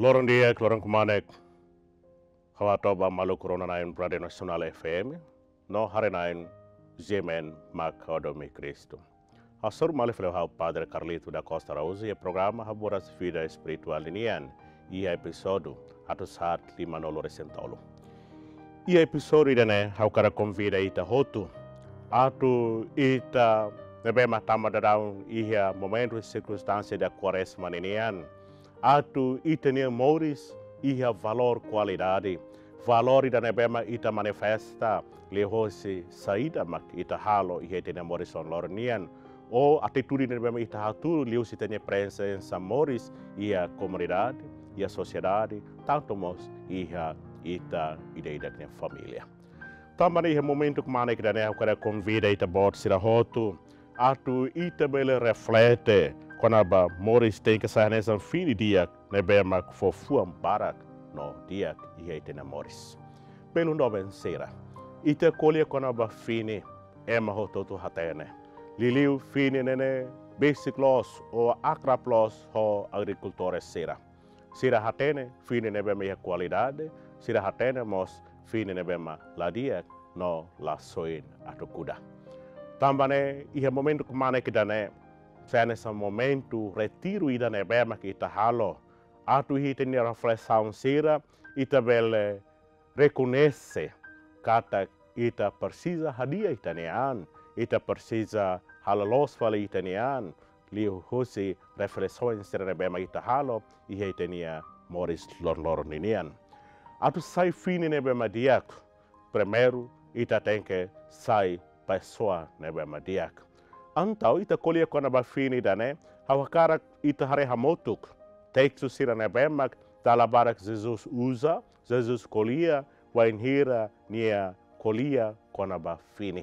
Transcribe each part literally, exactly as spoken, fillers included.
Loron di'ak, loron kmanek. Ha'u hato'o ba maluk rona-na'in Rádiu Nasionál F M, no haree-na'in G M N mak ha'u hadomi Kristu. Hasoru malu fali ho ha'u Padre Carlito da Costa Araújo iha programa Haburas Vida Espirituál ninian, iha epizódiu atus haat lima-nulu resin tolu. Iha epizódiu ida-ne'e ha'u hakarak konvida ita hotu atu ita ne'ebé mak tama daudaun iha momentu sirkunstánsia ida Kuarezma ninian, atu ita-nia moris iha valór kualidade, valór ida ne'ebé mak ita manifesta liuhosi saida mak ita halo iha ita-nia moris loron-loron nian, ou atitude ne'ebé mak ita hatudu liuhosi ita-nia prezensa moris iha komunidade, iha sosiedade, tantu mós iha ita ida-idak nia família. Tanba ne'e iha momentu kmanek ida-ne'e ha'u hakarak konvida ita-boot sira hotu atu ita bele reflete kona-ba moris tenke sai hanesan fini di'ak ne'ebé mak fó fuan barak no di'ak iha ita-nia moris. Belun doben sira, ita ko'alia kona-ba fini, ema hotu-hotu hatene. Liuliu fini ne'e ne'e besik loos ou akrab loos ho agrikultór sira. Sira hatene fini ne'ebé mak iha kualidade, sira hatene mós fini ne'ebé mak la di'ak no la soin atu kuda. Tanba ne'e iha momentu kmanek ida-ne'e sai hanesan momentu retiru ida ne'ebé mak ita halo atu iha ita-nia reflesaun sira, ita bele rekoñese katak ita presiza hadi'a ita-nia an, ita presiza halo loos fali ita-nia an liuhosi reflesaun sira ne'ebé mak ita halo iha ita-nia moris loron-loron ninian. Atu sai fini ne'ebé mak di'ak, primeiru ita tenke sai pesoa ne'ebé mak di'ak. Entaun ita ko'alia kona-ba fini ida-ne'e, ha'u hakarak ita haree hamutuk testu sira ne'ebé mak dala barak Jesus uza, Jesus ko'alia, wainhira nia ko'alia kona-ba fini.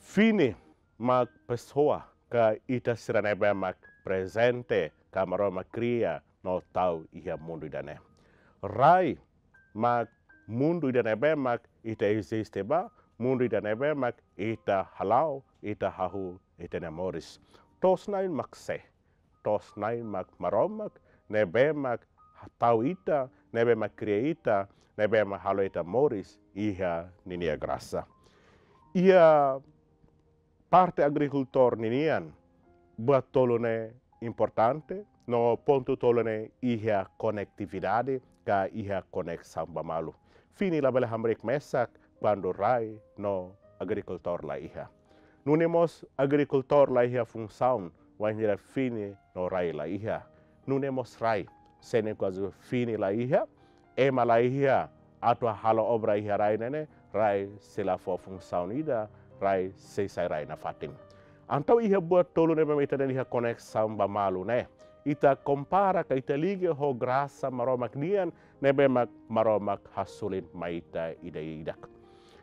Fini mak pesoa ka ita sira ne'ebé mak prezente ka Maromak kria no tau iha mundu ida-ne'e. Rai mak mundu ida ne'ebé mak ita eziste ba, mundu ida ne'ebé mak ita hala'o, ita hahú ita-nia moris. To'os-na'in mak sé? To'os-na'in mak Maromak ne'ebé mak tau ita, ne'ebé mak kria ita, ne'ebé mak halo ita moris iha ninia grasa. Iha parte agrikultór ninian, buat tolu ne'e importante, no pontu tolu ne'e iha konetividade ka iha koneksaun ba malu. Fini labele hamriik mesak kuandu rai no agrikultór la iha. Nune'e mós agrikultór la iha funsaun wainhira fini no rai la iha. Nune'e mós rai, se ne'e kuaze fini la iha, ema la iha atu halo obra iha rai ne'e ne'e, rai sei la fó funsaun ida, rai sei sai rai nafatin. Entaun iha buat tolu ne'ebé mak ita dehan iha koneksaun ba malu ne'e, ita kompara ka ita liga ho grasa Maromak nian ne'ebé mak Maromak hasoru mai ita ida-idak.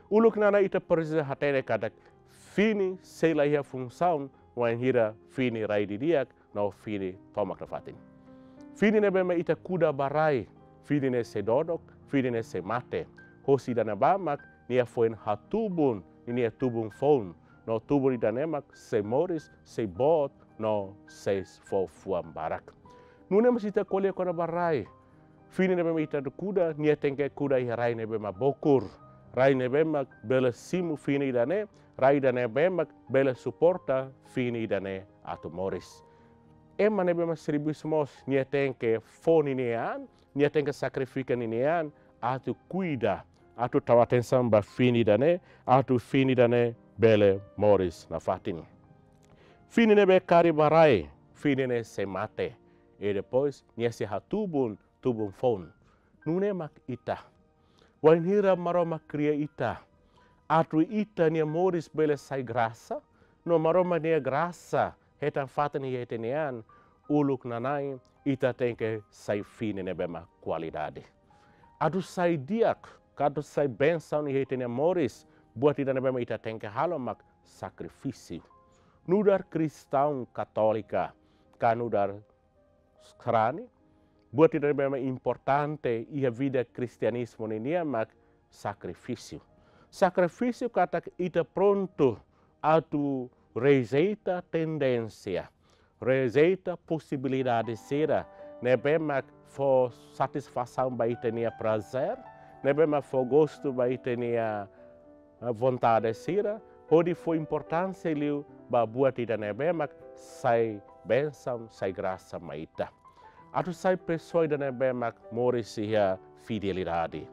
Uluk nanain ita presiza hatene katak fini sei la iha funsaun wainhira fini rai didi'ak no fini tomak nafatin. Fini ne'ebé mak ita kuda ba rai, fini ne'e sei dodok, fini ne'e sei mate. Hosi ida-ne'ebá mak nia foin hatubun ninia tubun foun, no tubun ida-ne'e mak sei moris, sei boot, no sei fó fuan barak. Nune'e mós ita ko'alia kona-ba rai. Fini ne'ebé mak ita atu kuda, nia tenke kuda iha rai ne'ebé mak bokur. Rai ne'ebé mak bele simu fini ida-ne'e, rai ida ne'ebé mak bele suporta fini ida-ne'e atu moris. Ema ne'ebé mak servisu mós, nia tenke fó ninia an, nia tenke sakrifika ninia an, atu kuida, atu tau atensaun ba fini ida-ne'e, atu fini ida-ne'e bele moris nafatin. Fini ne'ebé karik ba rai, fini ne'e sei mate. I depois, nia sei hatubun tubun foun. Nune'e mak ita. Wainhira Maromak kria ita, atu ita-nia moris bele sai grasa, no Maromak nia grasa hetan fatin iha ita-nia an, uluk nanain ita tenke sai fini ne'ebé mak kualidade. Atu sai di'ak, ka atu sai bensaun iha ita-nia moris, buat ida ne'ebé mak ita tenke halo mak sakrifísiu. Nu'udar kristaun katólika, ka nu'udar sarani, buat ida ne'ebé mak importante iha vida kristianizmu ninian mak sakrifísiu. Sakrifísiu katak ita prontu atu rejeita tendénsia, rejeita posibilidade sira, ne'ebé mak fó satisfasaun ba ita-nia prazer, ne'ebé mak fó gostu ba ita-nia, eh, vontade sira, hodi fó importánsia liu ba buat ida ne'ebé mak sai bensaun, sai grasa mai ita. Atu sai pesoa ida ne'ebé mak moris iha fidelidade.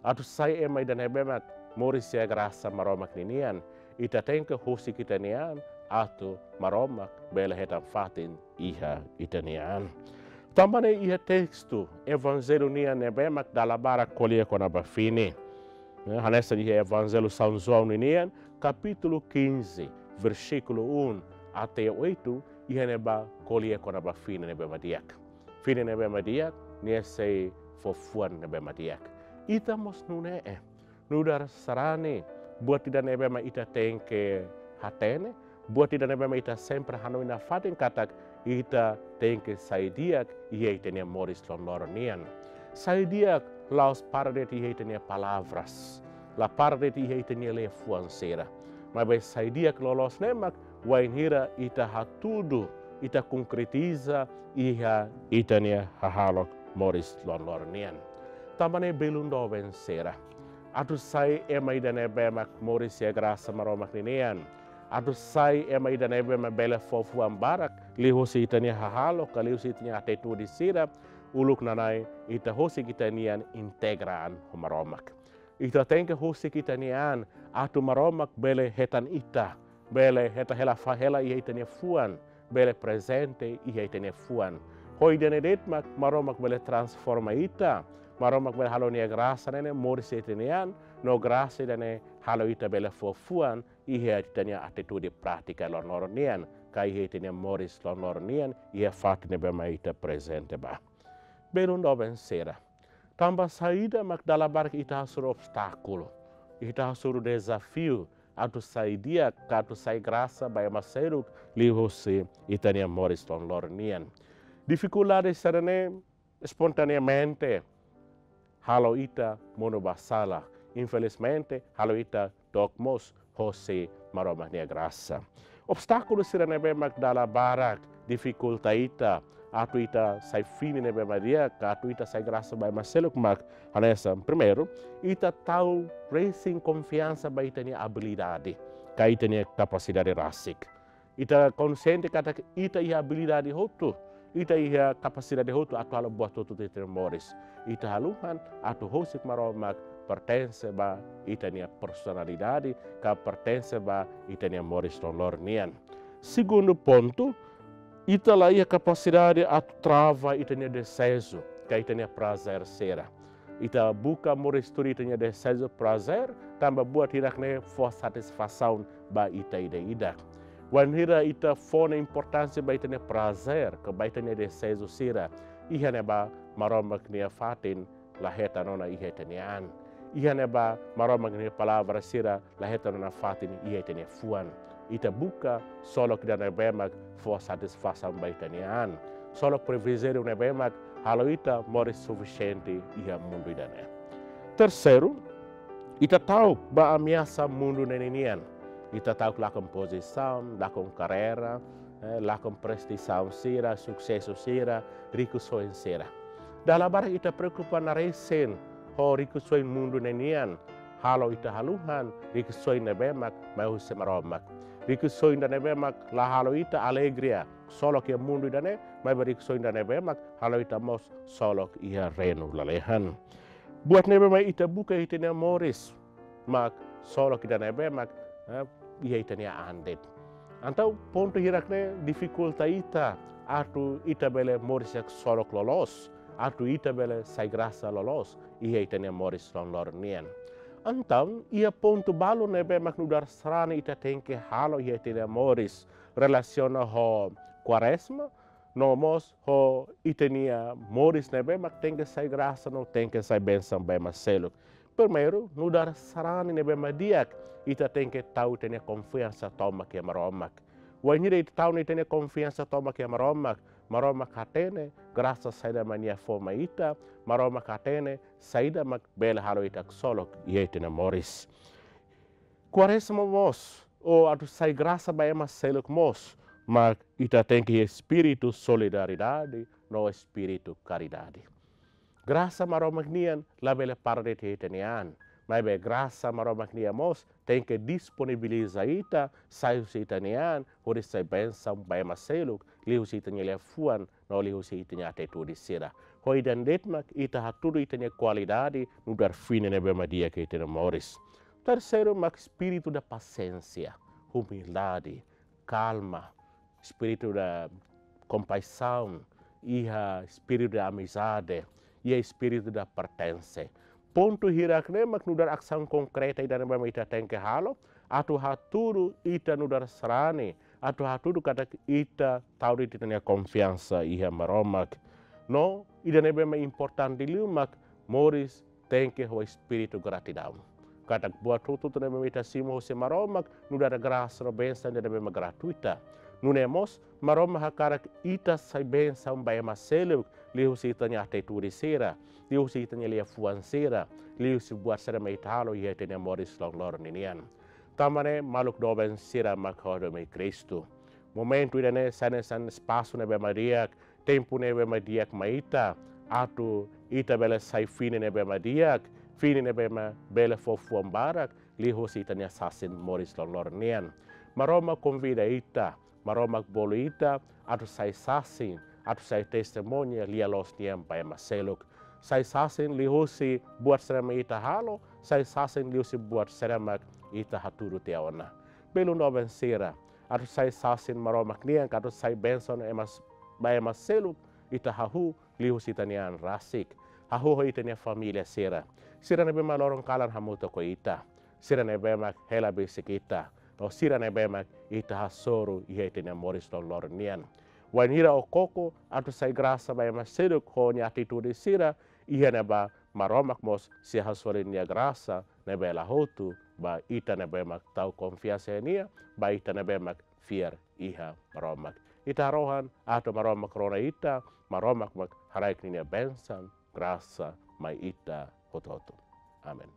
Atu sai ema ida ne'ebé mak moris iha grasa Maromak ninian. Ita tenke husik ita-nia an atu Maromak bele hetan fatin iha ita-nia an. Tanba ne'e iha testu Evanjellu nian ne'ebé mak dala barak ko'alia kona-ba fini. Ne'e, hanesan iha Evanjellu São João ninian, kapítulu quinze, versíkulu um até oito, iha ne'ebá ko'alia kona-ba fini ne'ebé mak di'ak. Fini ne'ebé mak di'ak, nia sei fó fuan ne'ebé mak di'ak. Ita mós nune'e, nu'udar sarani, buat ida ne'ebé mak ita tenke hatene, buat ida ne'ebé mak ita sempre hanoin nafatin katak ita tenke sai di'ak iha ita-nia moris loron-loron nian. Sai di'ak la'ós para de'it iha ita-nia palavras, la para de'it iha ita-nia liafuan sira. Maibé sai di'ak loloos ne'e mak wainhira ita hatudu, ita konkretiza iha ita-nia hahalok moris loron-loron nian. Tanba ne'e belun doben sira, atu sai ema ida ne'ebé mak moris iha grasa Maromak ninian. Atu sai ema ida ne'ebé mak bele fó fuan barak liuhusi ita-nia hahalok, ka liuhusi ita-nia atitude sira, uluk nanain ita husik ita-nian integra an ho Maromak. Ita tenke husik ita-nia an atu Maromak bele hetan ita, bele hetan hela fa-, hela iha ita-nia fuan, bele prezente iha ita-nia fuan. Ho ida-ne'e de'it mak Maromak bele transforma ita, Maromak bele halo nia grasa ne'e moris iha ita-nia an, no grasa ida-ne'e halo ita bele fó fuan iha ita-nia atitude prátika loron-loron nian, ka iha ita-nia moris loron-loron nian, iha fatin ne'ebé mak ita prezente ba. Belun doben sira, tanba saida mak dala barak ita hasoru obstákulu, ita hasoru dezafiu atu sai di'ak, ka atu sai grasa ba ema seluk liuhusi ita-nia moris loron-loron nian? Difikuldade sira-ne'e espontaneamente halo ita monu ba sala. Infelizmente, halo ita dook mós hosi Maromak nia grasa. Obstákulu sira ne'ebé mak dala barak difikulta ita atu ita sai fini ne'ebé mak di'ak, ka atu ita sai grasa ba ema seluk mak hanesan. Primeiru, ita tau resin konfiansa ba ita-nia abilidade, ka ita-nia kapasidade rasik. Ita konsiente katak ita iha abilidade hotu, ita iha kapasidade hotu atu halo buat hotu iha ita-nia moris. Ita haluhan atu husik Maromak pertense ba ita-nia personalidade, ka pertense ba ita-nia moris loron-loron nian. Segundu pontu, ita la iha kapasidade atu trava ita-nia deseju, ka ita-nia prazer sira. Ita buka moris tuir ita-nia deseju, prazer, tanba buat hirak-ne'e fó satisfasaun ba ita ida-idak. Wainhira ita fó ona importánsia ba ita-nia prazer, ka ba ita-nia deseju sira, iha ne'ebá Maromak nia fatin la hetan ona iha ita-nia an. Iha ne'ebá Maromak nia palavra sira la hetan ona fatin iha ita-nia fuan. Ita buka solok ida ne'ebé mak fó satisfasaun ba ita-nia an. Solok provizóriu ne'ebé mak halo ita moris sufisiente iha mundu ida-ne'e. Terseiru, ita ta'uk ba ameasa mundu ne'e ninian. Ita ta'uk lakon pozisaun, lakon karreira, eh, lakon prestasaun sira, susesu sira, rikusoin sira. Dala barak ita preokupa naresin ho rikusoin mundu ne'e nian, halo ita haluhan rikusoin ne'ebé mak mai husi Maromak. Rikusoin ida ne'ebé mak la halo ita alegria, solok iha mundu ida-ne'e, maibé rikusoin ida ne'ebé mak halo ita mós solok iha reinu lalehan. Buat ne'ebé mak ita buka iha ita-nia moris mak solok ida ne'ebé mak, eh, iha ita-nia an de'it. Entaun pontu hirak-ne'e difikulta ita atu ita bele moris iha solok loloos, atu ita bele sai grasa loloos iha ita-nia moris loron-loron nian. Entaun iha pontu balu ne'ebé mak nu'udar sarani ita tenke halo iha ita-nia moris relasiona ho Kuarezma, no mós ho ita-nia moris ne'ebé mak tenke sai grasa no tenke sai bensaun ba ema seluk. Primeiru, nu'udar sarani ne'ebé mak di'ak, ita tenke tau ita-nia konfiansa tomak iha Maromak. Wainhira ita tau ona ita-nia konfiansa tomak iha Maromak, Maromak hatene grasa saida mak nia fó mai ita, Maromak hatene saida mak bele halo ita ksolok iha ita-nia moris. Kuarezma mós, ou atu sai grasa ba ema seluk mós, mak ita tenke iha espíritu solidariedade, no espíritu karidade. Grasa Maromak nian labele para de'it iha ita-nia an. Maibé grasa Maromak nian mós tenke disponibiliza ita, sai husi ita-nia an, hodi sai bensaun ba ema seluk, liuhusi ita-nia liafuan, no liuhusi ita-nia atitude sira. Ho ida-ne'e de'it mak ita hatudu ita-nia kualidade nu'udar fini ne'ebé mak di'ak iha ita-nia moris. Terseiru mak espíritu da pasiénsia, umildade, kalma, espíritu da kompaixaun, iha espíritu da amizade, iha espíritu da pertense. Pontu hirak-ne'e mak nu'udar asaun konkreta ida ne'ebé mak ita tenke halo, atu hatudu ita nu'udar sarani, atu hatudu katak ita tau de'it ita-nia konfiansa iha Maromak. No ida ne'ebé mak importante liu mak moris tenke ho espíritu gratidaun. Katak buat hotu-hotu ne'ebé mak ita simu husi Maromak, nu'udar grasa no bensaun ida ne'ebé mak gratuita. Nune'e mós, Maromak hakarak ita sai bensaun ba ema seluk, liuhusi ita-nia atitude sira, liuhusi ita-nia liafuan sira, liuhusi buat sira ne'ebé mak ita halo iha ita-nia moris loroloron ninian. Tanba ne'e maluk doben sira mak ha'u doben Kristu. Momentu ida-ne'e sai hanesan espasu ne'ebé mak di'ak, tempu ne'ebé mak di'ak mai ita, atu ita bele sai fini ne'ebé mak di'ak, fini ne'ebé mak bele fó fuan barak, liuhusi ita-nia sasin moris loroloron nian. Maromak konvida ita, Maromak bolu ita, atu sai sasin, atu sai testemuña lia-loos nian ba ema seluk. Sai sasin liuhusi buat sira mak ita halo, sai sasin liuhusi buat sira mak ita hatudu tiha ona. Belun doben sira, atu sai sasin Maromak nian, ka atu sai bensaun ema s-, ba ema seluk, ita hahú liuhusi ita-nia an rasik, hahú ho ita-nia família sira. Sira ne'ebé mak loron kalan hamutuk ho ita. Sira ne'ebé mak hela besik ita. No sira ne'ebé mak ita hasoru iha ita-nia moris loroloron nian. Wainhira ó koko atu sai grasa ba ema seluk ho ó-nia atitude sira, iha ne'ebá Maromak mós sei hasoru nia grasa ne'ebé la hotu ba ita ne'ebé mak tau konfiansa iha nia, ba ita ne'ebé mak fiar iha Maromak. Ita harohan atu Maromak rona ita, Maromak mak haraik ninia bensaun, grasa mai ita hotu-hotu. Amen.